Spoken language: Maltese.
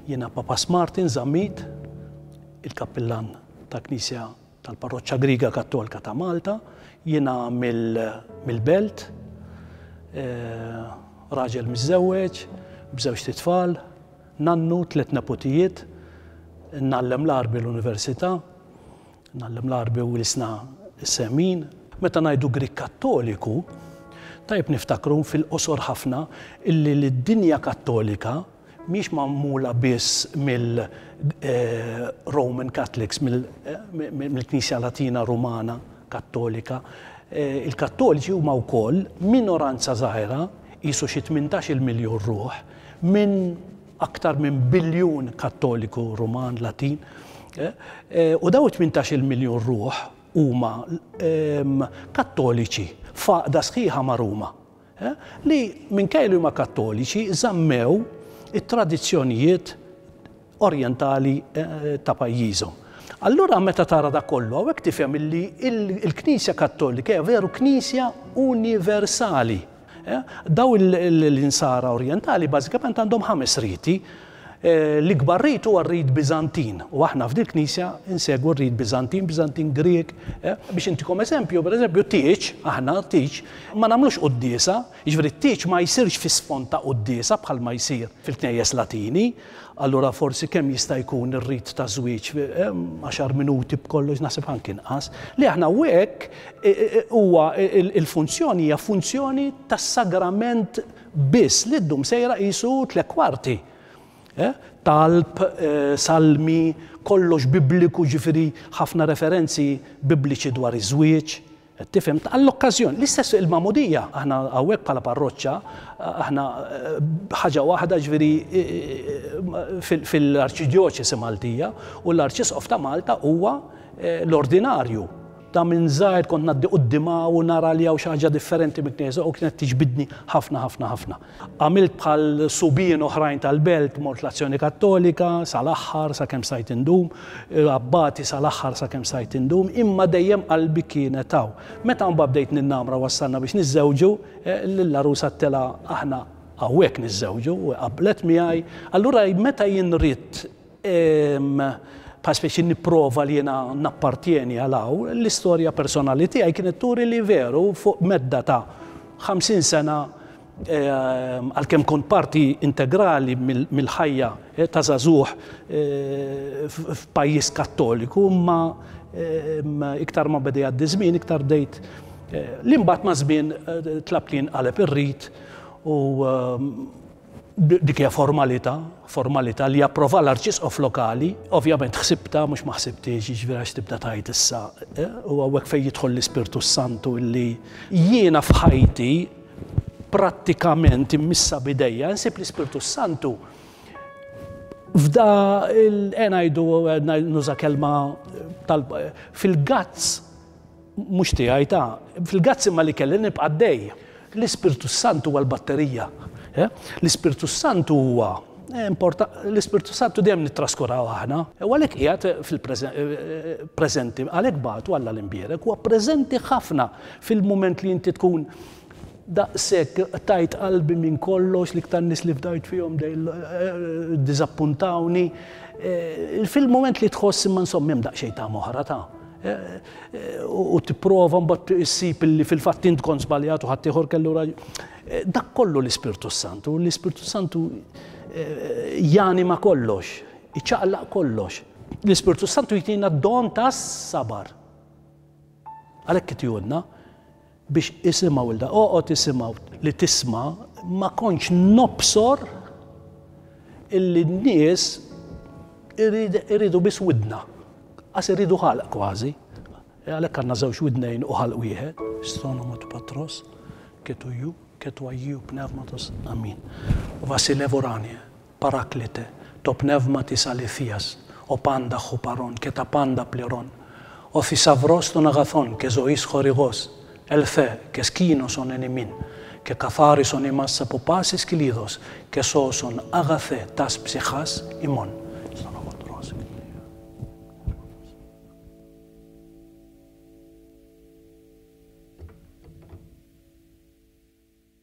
Jiena Papas Martin Zammit, il-kappillan ta' Knisja tal-Parroċċa Griega Kattolika ta' Malta. Jiena mill-Belt, raġel miżżewweġ, b'żewġt itfal, nannu, tliet neputijiet, ngħallem l-Għarbi l-Università, ngħallem l-Għarbi u l-Ilsna Semin. Meta ngħidu Grieg Kattoliku, tajjeb niftakru fil-qosor ħafna illi d-dinja Kattolika mhijiex magħmula biss mill-Roman Catholics, mill-Knisja Latina Rumana Kattolika. Il-Kattoliċi huma wkoll minoranza żgħira, qisu xi 18-il miljun ruħ, minn aktar minn biljun Kattoliku Ruman Latin. U dawn it-18-il miljun ruħ huma Kattoliċi f'għaqda sħiħa ma' Ruma. Li minkejja li huma Kattoliċi żammew it-tradizzjonijiet orjentali ta' pajjiżhom. Allura meta tara dak kollu hawnhekk tifhem illi l-Knisja Kattolika hija veru Knisja universali. Daw l-insara orjentali bażikament għandhom ħames riti. L-ikbar rit huwa r-rit Biżantin u aħna f'dil knisja nsegwu r-rit Biżantin, Biżantin Grieg. Biex intikom eżempju, pereżempju tieġ, aħna tieġ ma nagħmlux quddiesa, jiġifieri t-tieġ ma jsirx fi sfond ta' quddiesa bħalma jsir fil-knejjes Latini, allura forsi kemm jista' jkun ir-rit ta' żwieġ għaxar minuti b'kollox naħseb anki inqas. Li aħna hawnhekk huwa il-funzjoni hija funzjoni tas-sagrament biss li ddum sejra qisu tlett kwarti. Talb, salmi, kollox bibliku ġifieri ħafna referenzi bibliċi dwar iż-żwieġ. Qed tifhem? Għall-okkażjoni. L-istess il-magħmudija, aħna hawnhekk bħala parroċċa, aħna ħaġa waħda ġifieri fil-Arċidjoċesi Maltija u l-Arċisqof ta' Malta huwa l-ordinarju. Ta' minn żgħir kont ngħaddi quddiemha u nara li hawn xi ħaġa differenti mill-knisja u kienet tiġbidni ħafna ħafna ħafna. Għamilt bħal subien oħrajn tal-belt, mort l-Azzjoni Kattolika sal-aħħar sakemm stajt indum, abbati sal-aħħar sakemm stajt indum, imma dejjem qalbi kienet hawn. Meta mbagħad bdejt ninnamra wassalna biex niżżewġu, lill-għarusa għedtilha aħna hawnhekk niżżewġu u qablet miegħi. Allura meta jien ridt Bħal speċi nipprova li jiena nappartjeni għal hawn, l-istorja personali tiegħi kienet turi li veru fuq medda ta' 50 sena għalkemm kont parti integrali mill-ħajja ta' żagħżugħ f'pajjiż Kattoliku, imma iktar ma beda jgħaddi żmien iktar bdejt li mbagħad maż-żmien tlabt li jinqaleb ir-rit u Dik hija formalità, formalità li japprova l-Arċisqof lokali. Ovvjament ħsibtha, mhux ma ħsibthiex, jiġifieri għax tibda tgħid issa, u hawnhekk fejn jidħol l-Ispirtu s-Santu illi jiena f'ħajti prattikament immissa b'idejja nsib l-Ispirtu s-Santu f'da il ngħidu nuża kelma tal fil-gazz Mhux tiegħi ta'. Fil-gazz imma li kelli nibqa' għaddej. L-Ispirtu s-Santu huwa l-batterija. L-Ispirtu s-Santu huwa l-Ispirtu s-Santu dejjem nittraskuraw aħna. U għalhekk qiegħed fil-preżenti, għalhekk bagħtu Alla l-Imbierek, huwa preżenti ħafna fil-mument li inti tkun daqshekk qtajt qalbi minn kollox, l-iktar nies li fdajt fihom ddiżappuntawni. Fil-mument li tħoss imma insomma hemm daqsxejn tama oħra ta' u tipprova mbagħad issib li fil-fatt int kont żbaljat u ħaddieħor kellu raġun. Dak kollu l-Ispirtu Santu, l-Ispirtu Santu janima kollox, iċaqlaq kollox. L-Ispirtu Santu jtina d-don tas-sabar. Għalhekk itihulna biex isimgħu 'l da. Oqgħod isimgħu li tisma' ma kontx nobsor illi n-nies iridu biss widna. Qas iridu ħalq kważi. Għalhekk għandna żewġ widnejn u ħalq wieħed. Stonomo tu Patros, ke tu Iou, ke tu Agiou Pnevmatos. Amin. Vasilev Uranie. Paraklite, to pnevma tis alithias, o pandach o paron, ke ta panda pliron, o thisavros ton agathon, ke zois chorigos, elthe, ke skinoson en imin, ke katharison imas apo pasis kilidos, ke soson agathe tas psychas imon.